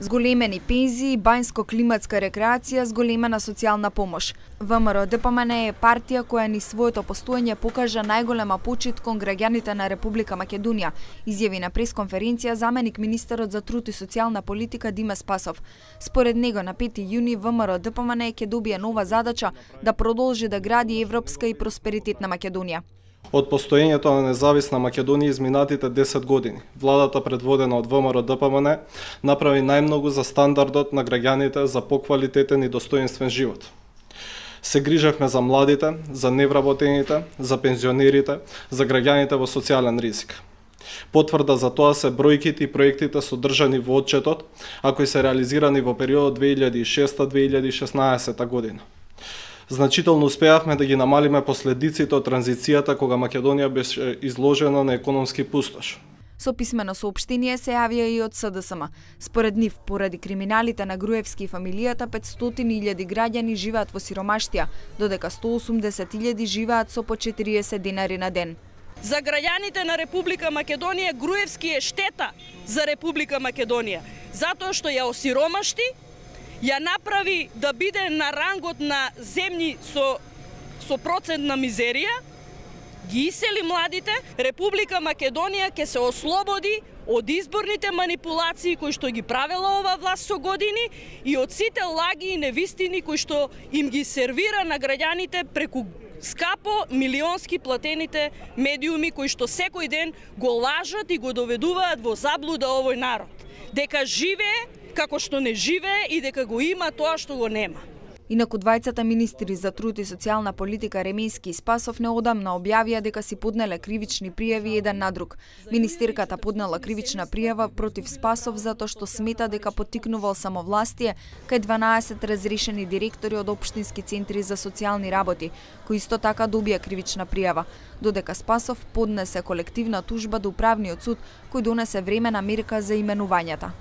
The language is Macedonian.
Зголемени пензии, бајнско-климатска рекреација, зголемена социјална помош. ВМРО-ДПМН е партија која ни своето постоење покажа најголема почит кон граѓаните на Република Македонија, изјави на пресконференција заменик министерот за труд и социјална политика Диме Спасов. Според него на 5 јуни ВМРО-ДПМН ќе добие нова задача да продолжи да гради европска и просперитетна Македонија. Од постоењето на независна Македонија изминатите 10 години, владата предводена од ВМРО-ДПМН направи најмногу за стандардот на граѓаните за поквалитетен и достоинствен живот. Се грижевме за младите, за невработените, за пензионерите, за граѓаните во социјален ризик. Потврда за тоа се бројките и проектите содржани во отчетот, а кои се реализирани во периодот 2006-2016 година. Значително успеавме да ги намалиме последиците од транзицијата кога Македонија беше изложена на економски пустош. Со писмено соопштение се јавија и од СДСМ. Според нив, поради криминалите на Груевски и фамилијата, 500.000 граѓани живеат во сиромаштија, додека 180.000 живеат со по 40 денари на ден. За граѓаните на Република Македонија Груевски е штета за Република Македонија, затоа што ја осиромашти, ја направи да биде на рангот на земји со процент на мизерија, ги исели младите, Република Македонија ќе се ослободи од изборните манипулации кои што ги правела ова власт со години и од сите лаги и невистини кои што им ги сервира на граѓаните преку скапо милионски платените медиуми кои што секој ден го лажат и го доведуваат во заблуда овој народ. Дека живее како што не живее и дека го има тоа што го нема. Инаку двајцата министри за труд и социјална политика Ремински и Спасов неодамна објавија дека си поднеле кривични пријави еден на друг. Министерката поднела кривична пријава против Спасов затоа што смета дека поттикнувал самовластие кај 12 разрешени директори од општински центри за социјални работи, кои исто така добија кривична пријава, додека Спасов поднесе колективна тужба до управниот суд кој донесе времена мерка за именувањата.